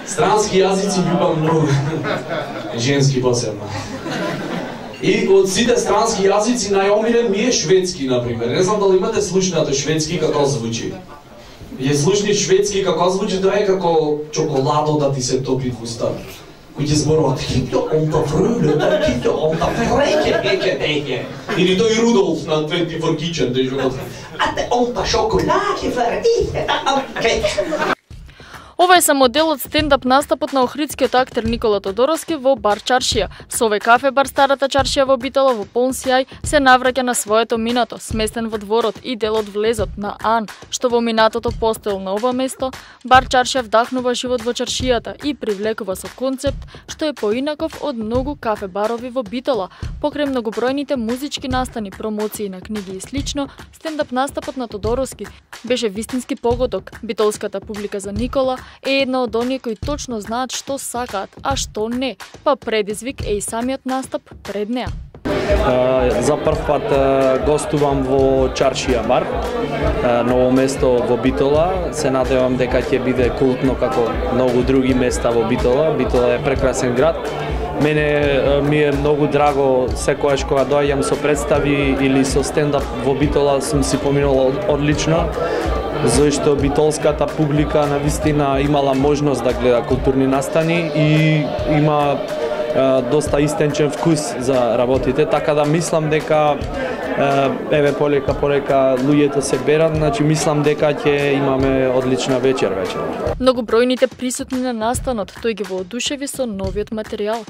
Странски јазици љубам многу. Женски посебно. И од сите странски јазици најомилен ми е шведски, например. Не знам дали имате слушнато шведски како звучи. Ја слушни шведски како звучи, тоа е како чоколадо да ти се топи в уста. Кој ќе зборува хито онта фруле, хито онта фреке. Или тој Рудолф на 24 Kitchen, тој жогот. Ате онта шоколаде фрите, Ова е само дел од стендап настапот на охридскиот актер Никола Тодоровски во бар Чаршија. Со овој кафе бар Старата Чаршија во Битола во полн сјај се навраќа на своето минато, сместен во дворот и дел од влезот на Ан, што во минатото постоел на ова место. Бар Чаршија вдахнува живот во чаршијата и привлекува со концепт што е поинаков од многу кафе барови во Битола. Покрај многобројните музички настани, промоции на книги и слично, стендап настапот на Тодоровски беше вистински погодок. Битолската публика за Никола е една од оние кои точно знаат што сакаат, а што не, па предизвик е и самиот настап пред неа. За прв пат гостувам во Чаршија бар, ново место во Битола. Се надевам дека ќе биде култно како многу други места во Битола. Битола е прекрасен град. Мене ми е многу драго секогаш кога доаѓам со представи или со стендап во Битола сум си поминал одлично, зашто битолската публика навистина имала можност да гледа културни настани и има доста истенчен вкус за работите, така да мислам дека еве полека луѓето се берат, значи мислам дека ќе имаме одлична вечер. Многобројните присутни на настанот, тој ги воодушеви со новиот материјал.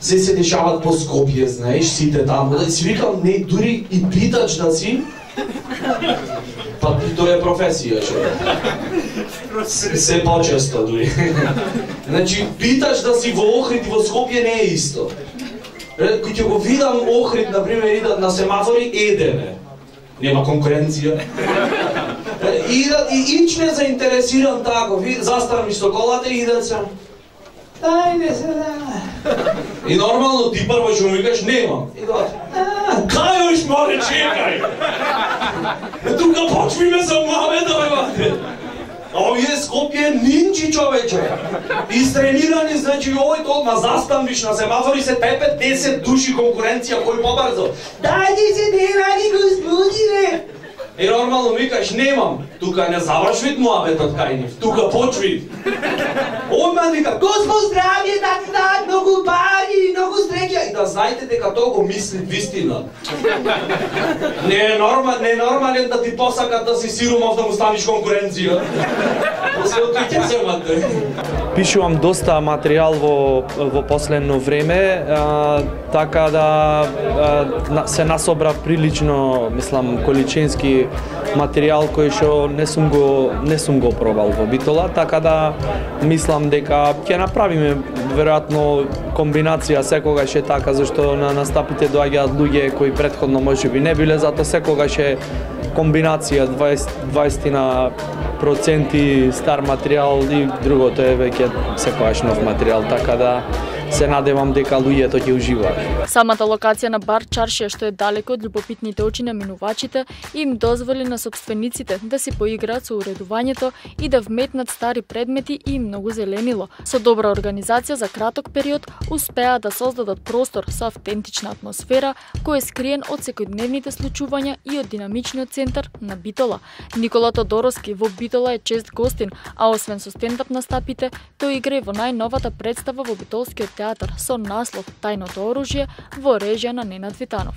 Се дешават по Скопје, знаеш, сите таму, да си викам, не, дури и питач да си, па тоа е професија, се почесто дури. Значи, питаш да си во Охрид и во Скопје не е исто. Кој ќе го видам Охрид, например, идат на семафори, едеме. Нема конкуренција. И ич не заинтересиран тако, заставам со колата и идат сам. Ајде се да. И нормално ти прво ќе му викаш, немам. И дот. Кај ош море, чекај. Тука почвиме за мамета, бе. Овие Скопје нинчи, човече. Истренирани, значи овој толкова застанвиш на семафори, се тепе 10 души конкуренција, кој побрзо. Дајте се, не ради господине. И нормално викаш, немам. Тука не завршвит муабетот кај нив, тука почвит. Ој ме вика, Господ здравје, да ти дадат многу пари, многу среќа. И да знаете дека тоа го мисли вистина. Не е нормален да ти посакат да си сиромав да му станиш конкуренција. После од тој ќе земате. Пишувам доста материјал во последно време, така да се насобра прилично, мислам, количински материјал кој што не сум го пробал во Битола, така да мислам дека ќе направиме веројатно комбинација, секогаш е така, зашто на настапите доаѓаат луѓе кои претходно можеби не биле, затоа секогаш е комбинација 20% стар материјал и другото е веќе секогаш нов материјал, така да се надевам дека луѓето ќе уживаат. Самата локација на бар Чаршија, што е далеко од љубопитните очи на минувачите, им дозволи на сопствениците да си поиграат со уредувањето и да вметнат стари предмети и многу зеленило. Со добра организација за краток период успеа да создадат простор со автентична атмосфера кој е скриен од секојдневните случувања и од динамичниот центар на Битола. Никола Тодоровски во Битола е чест гостин, а освен со стендап настапите, тој игра и во најновата представа во Битолскиот театар со наслов Тајното оружје во режија на Ненад Витанов.